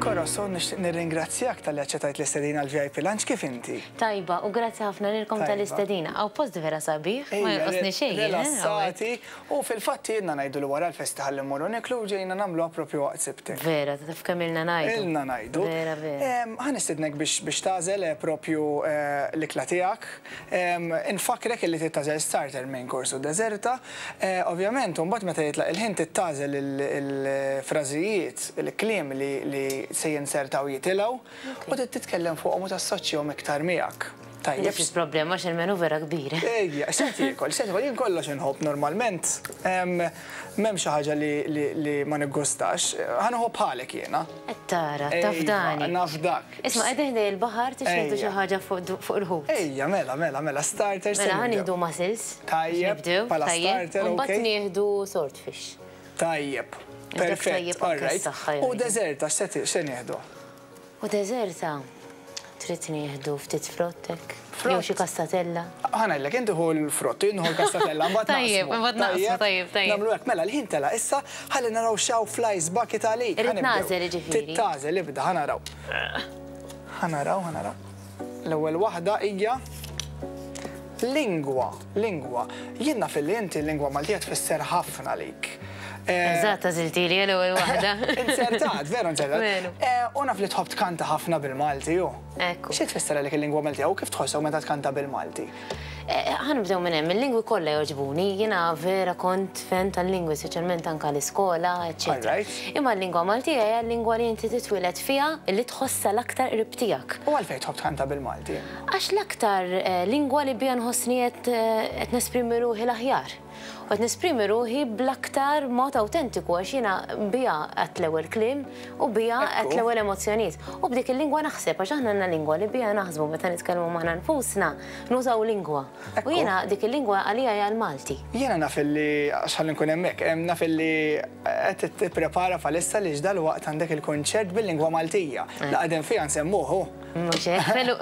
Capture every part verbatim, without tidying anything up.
Corazon, nixtieq nirringrazzjak talli aċċettajt l-istedina għal V I P Lunch. Kif inti? Tajba, u grazzi ħafna lilkom Tajba. tal-istedina. Hawn post vera sabiħ, ma jonqosni xejn, eh, Rilassati, u fil-fatt jiena ngħidu li wara l-festi ħalli mmorru niklu, ġejna nagħmluha propju waqt Sibtek. Vera, taf kemm ilna ngħidu. Ilna ngħidu. Vera, vera. Em, Ħa nistidnek biex biex tagħżel eh, propju eh, l-ikla tiegħek. Em, Infakrek illi tagħżel starter, main course u deżerta. Eh, Ovvjament, mbagħad meta jitlaq il-ħin tagħżel il-frażijiet, il-kliem li li se jinsertaw jitilgħu u trid titkellem fuqhom u tassoċjahom iktar miegħek. Tajjeb. Nifx problema għax il-menu vera kbir. Ejja, se tiekol, se tiekol, jien kollox inħobb normalment. Em, M'hemm xi ħaġa li, li, li ma niggustax. Ħa nieħu bħalek jiena. Qed tara, Ejja, tafdani. Nafdak. Isma', qegħdin ħdejn il-baħar, tixtieq xi Ejja. ħaġa fuq fuq il-ħut. Ejja, mela, mela, mela, starter se Mela, ħa nibdew. nieħdu mussels. Tajjeb, Nibdew, bħala tajjeb. starter, U mbagħad okej. nieħdu swordfish. Tajjeb. Dak Perfett, tajjeb anke all right. s-saħħa U jgħidu. deżerta, x'se se nieħdu? U deżerta, trid nieħdu ftit frottek. Frott? Jew xi kassatella. Ħa ngħidlek, inti ħu l-frott, jien ħu l-kassatella, mbagħad Tajjeb, naqsmu. mbagħad naqsmu, tajjeb, tajjeb. Nagħmlu hekk, mela l-ħin tela issa, ħalli naraw x'hawn fl-ice bucket għalik. Irrid Ħa nibdew. nagħżel, jiġifieri. Trid tagħżel, ibda, ħa naraw. Ħa naraw, ħa naraw. L-ewwel waħda hija lingwa, lingwa. Jien naf li inti l-lingwa Maltija tfisser ħafna lik. Eh, Eżatt, għażiltili l-ewwel waħda. Insertat, veru insertat. Veru. Eh, U naf li tħobb tkanta ħafna bil-Malti, ju. Ekku. Xi tfisser għalik il-lingwa Maltija u kif tħossok meta tkanta bil-Malti? Eh, Ħa nibdew minn hemm, il-lingwi kollha jogħġbuni, jiena vera kont fan tal-lingwi, speċjalment anke l-iskola, eċċetera. Alright. Imma l-lingwa Maltija hija l-lingwa li inti titwieled fiha, li tħossha l-aktar qrib tiegħek. U għalfejn tħobb tkanta bil-Malti? Għax l-aktar eh, lingwa li biha nħossni qed eh, qed nesprimi ruħi l-aħjar. U qed nesprimi ruħi bl-aktar mod autentiku, għax jiena biha għedt l-ewwel kliem u biha għedt Ekku. l-ewwel emozzjonijiet. U b'dik il-lingwa naħseb, għax aħna għandna lingwa li biha naħsbu meta nitkellmu magħna nfusna, nużaw lingwa. U Ekku. jiena dik il-lingwa għalija hija l-Malti. Jiena naf li, għax ħalli nkun hemmhekk, em, naf li qed tipprepara bħalissa li dalwaqt għandek il-konċert bil-lingwa Maltija. La qegħdin fiha nsemmuhu. Mhux hekk, felu,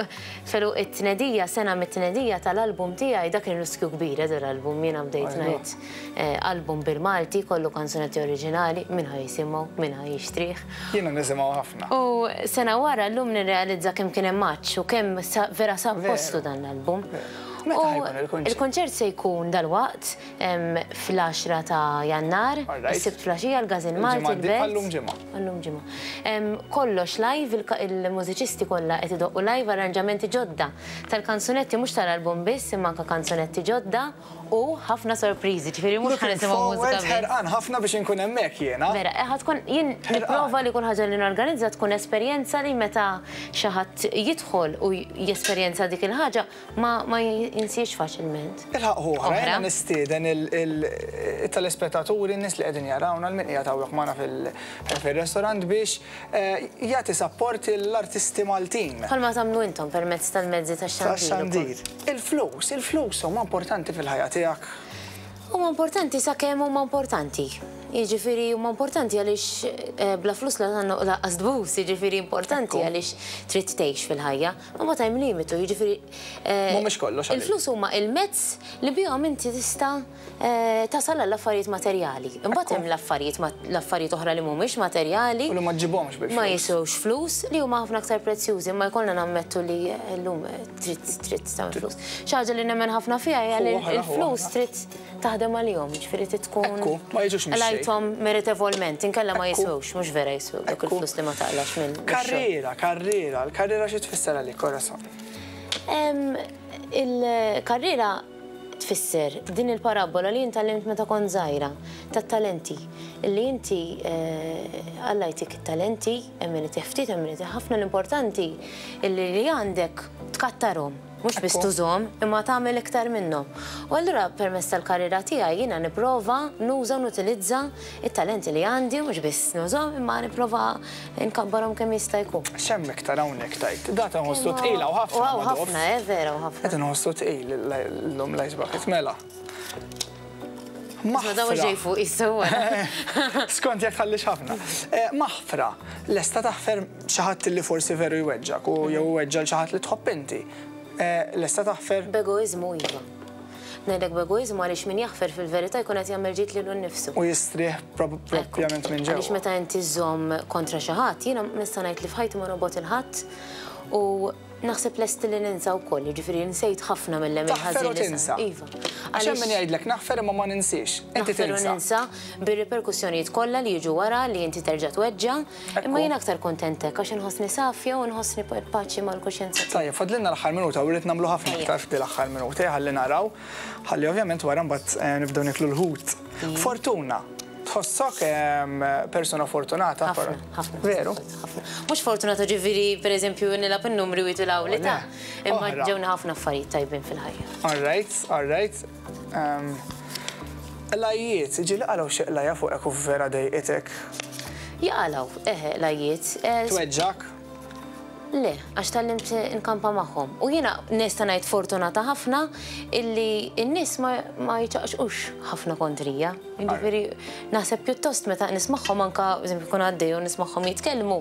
felu it-tnedija, sena mit-tnedija tal-album tiegħi, dak kien riskju kbir, eh, l-album jiena bdejt Ajwa. ngħid eh, album bil-Malti, kollu kanzunetti oriġinali, min ħa jisimgħu, min ħa jixtrih. Jiena nisimgħu ħafna. U sena wara llum nirrealizza kemm kien hemm maċ u kemm sa- vera sab Veru. postu dan l-album. Meta U ħa jkun il-konċert? Il-konċert se jkun dal-waqt em, fl-għaxra ta' Jannar, Alright. is-Sibt filgħaxija, l-Każin Malti, Il-ġimgħa di- il-Belt. Għallum ġimgħa. Għallum ġimgħa. Em, Kollox live, il- il-mużiċisti kollha qed idoqqu live arranġamenti ġodda tal-kanzunetti, mhux tal-album biss, imma anke kanzunetti ġodda u ħafna sorpriżi, ġifieri mhux ħa Looking nisimgħu mużika forward, biss. ħerqan ħafna biex inkun hemmhekk jiena. Vera, eh, ħa tkun, jien Ħerqan. nipprova li kull ħaġa li norganizza tkun esperjenza li meta xi ħadd jidħol u jesperjenza dik il-ħaġa ma, ma jinsiex faċilment. Il-ħaq oħra, Oħra. jiena nistieden il-telespettaturi, n-nies li qegħdin jarawna, l-min qiegħed hawnhekk magħna fil- fil-restorant biex eh, jagħti support l-artisti Maltin. Bħalma tagħmlu intom permezz tal-mezzi tax-xandir. Tax-xandir. Il-flus, il-flus huma importanti fil-ħajja tiegħek. Huma importanti sakemm huma importanti. Jiġifieri huma importanti għaliex eh, bla flus la tgħannu lanqas tbus, jiġifieri importanti Ekku. għaliex trid tgħix fil-ħajja. Ma ma hemm limitu, jiġifieri eh, Mhumiex kollox għalik. Il-flus huma il-mezz li bihom inti tista' eh, tasal għall-affarijiet materjali. Imbagħad hemm l-affarijiet ma- l-affarijiet oħra li mhumiex materjali. U li ma ġġibhomx bil-flus. Ma jiswewx flus, li huma ħafna aktar prezzjużi, ma jkollna nammettu li llum trid trid tagħmel flus. Xi ħaġa li nemmen ħafna fiha hija li Hu oħra, hu l-flus oħra. trid taħdem għalihom, ġifieri trid tkun Ekku, ma jiġux mix-xejn. qlajthom meritevolment, inkella ma Ekku. jiswewx, mhux vera jiswew dak Ekku. il-flus li ma taqlax minn mix-xogħol. Karriera, karriera, l-karriera xi tfisser għalik, Corazon? Em, Il-karriera tfisser din il-parabola li jien tgħallimt meta kont żgħira tat-talenti, li inti eh, Alla jtik it-talenti, hemm min itih ftit, hemm min itih ħafna, l-importanti illi li għandek tkattarhom, mhux biss Ekku. tużhom, imma tagħmel iktar minnhom. U allura permezz tal-karriera tiegħi jiena nipprova nuża u nutilizza it-talenti li għandi, mhux biss nużhom, imma nipprova nkabbarhom kemm jista' jkun. X'hemm iktar hawnhekk tajt? Data nħossu tqila u ħafna. Wow, ma dof. ħafna, eh, vera u ħafna. Qed inħossu tqil l-lum l-ice bucket, mela. Ma daw ġej fuq jissewa. Skont jekk tħallix ħafna. Eh, Maħfra, lesta taħfer xi ħadd li forsi veru jweġġak u jew weġġa l xi ħadd li tħobb inti. Eh, Lesta taħfer? B'egoizmu, iva. Ngħidlek b'egoiżmu għaliex min jaħfer fil-verità jkun qed jagħmel ġid lilu nnifsu. U jistrieħ propjament minn ġewwa. Għaliex meta inti żżomm kontra xi ħadd, jiena nista' ngħid li f'ħajti ma nobgħod 'il ħadd u naħseb lesti li ninsa wkoll, jiġifieri nsejt ħafna mill-għemil Taħfer u ħażin li tinsa. sar. Iva. Għax hemm min jgħidlek naħfer imma ma ninsiex. Inti Naħfer u tinsa. ninsa bir-riperkussjonijiet kollha li jiġu wara li inti terġa' tweġġa', imma jien aktar kuntent hekk għax inħossni safja u nħossni paċi mal-kuxjenza tiegħi. Tajjeb, fadlilna l-aħħar minuta u rrid nagħmlu ħafna Ejja. iktar f'di l-aħħar minuta, ħalli naraw, ħalli ovvjament wara mbagħad eh, nibdew niklu l-ħut. Fortuna. Tħossok em, persona fortunata? Ħafna, ħafna. Veru? Ħafna. Mhux fortunata ġifieri, pereżempju, nilgħab in-numri u jitilgħu li ta' Le, imma oħra. ġewna ħafna affarijiet tajbin fil-ħajja. All right, all right. Um, Qlajjiet, ġieli qalgħu xi qlajja fuqek u vera dejqitek. Jaqalgħu, eħe, qlajjiet. Eh, Tweġġak? Le, għax tgħallimt nkampa magħhom. U jiena nista' ngħid fortunata ħafna illi n-nies ma, ma jiċaqxqux ħafna kontrija. Jiġifieri naħseb pjuttost meta nismagħhom anka, eżempju, kun għaddej u nismagħhom jitkellmu,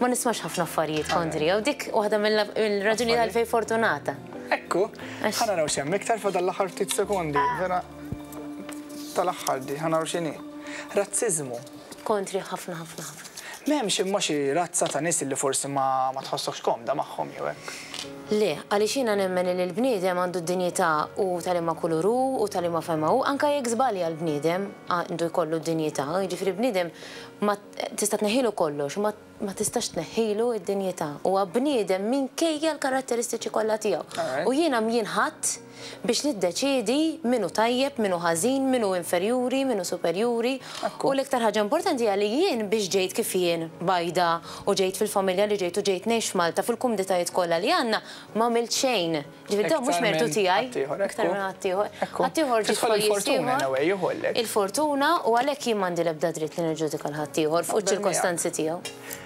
ma nismax ħafna affarijiet kontrija. U dik waħda mill-raġuni għalfejn fortunata. Ekku, Għax- ħa naraw x'hemm iktar fadal l-aħħar ftit sekondi, vera tal-aħħar di, ħa naraw x'inhi. Razziżmu. Kontri ħafna ħafna ħafna. M'hemmx imma xi razza ta' nies li forsi ma, ma tħossokx komda magħhom jew hekk. Le, għaliex jiena nemmen li l-bniedem għandu d-dinjità u tal-ima kuluru u tal-ima fema u anka jekk żbalja l-bniedem għandu jkollu d-dinjità, jiġifieri bniedem ma tista' tneħħilu kollox, ma, ma tistax tneħħilu d-dinjità. Huwa bniedem minkejja l-karatteristiċi kollha tiegħu. Alright. U jiena mjien ħadd biex niddeċiedi min hu tajjeb, min hu ħażin, min hu inferjuri, min hu superjuri. Ekku. U l-iktar ħaġa importanti hija li jien biex ġejt kif jien bajda u ġejt fil-familja li ġejt u ġejt ngħix Malta fil-kumditajiet kollha li għandna ma għamilt xejn. Ġifieri dawn mhux Iktar mertu minn tiegħi. ħaddieħor, Iktar ekku. minn ħaddieħor. Ekku. Ħaddieħor ġie Tidħol f'pajjiż il-fortuna ieħor. in a way, juħollek. Il-fortuna u għalhekk jien m'għandi l-ebda dritt li niġġudika l-ħaddieħor fuq Naqbel ċirkostanzi tiegħu.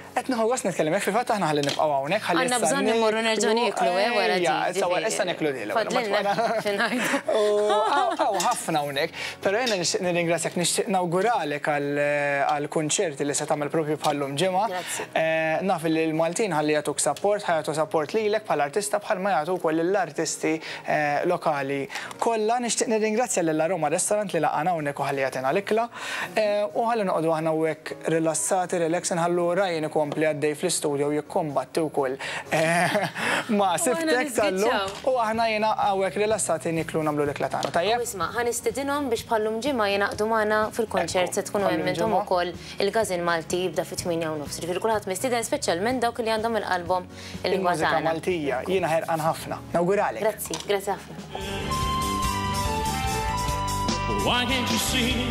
Qed nieħu gost nitkellem hekk, fil-fatt aħna ħalli nibqgħu hawnhekk ħalli Għandna issa bżonn immorru nerġgħu nieklu, eh, wara di, Ejja, issa wara- ġifieri. issa nieklu di l-ewwel, Fadlilna mbagħad xi ngħidu. U hawn ħafna hawnhekk, però jiena nixtieq nirringrazzjak, nixtieq nawguralek għall-kunċerti li se tagħmel propju bħallum ġimgħa. Grazzi. Eh, Naf li l-Maltin ħalli jagħtuk support, ħa jagħtu support lilek bħala artista bħalma jagħtu wkoll lill-artisti eh, lokali. Kollha nixtieq nirringrazzja lil Aroma Restaurant li laqana hawnhekk u ħalli jagħtina l-ikla. Eh, U ħalli noqogħdu aħna hawnhekk rilassati, relax, nħallu Ryan ikompli għaddej fl-istudio u jikkombatti wkoll eh, ma' siftek tal-lum. niżgiċċaw. U aħna jiena hawnhekk rilassati niklu nagħmlu l-ikla tagħna. Tajjeb? U isma', ħa nistedinhom biex bħallum ġimgħa jingħaqdu magħna fil-konċert se tkunu Ekku, hemm intom bħallum ukoll il-Każin Malti jibda fit-tmienja u nofs. Ġifieri kulħadd mistieden speċjalment dawk li għandhom il-qalbhom il-lingwa Il-mużika tagħna. Maltija, jiena ħerqan ħafna. Nawguralek. Grazzi, grazzi ħafna. Why can't you see?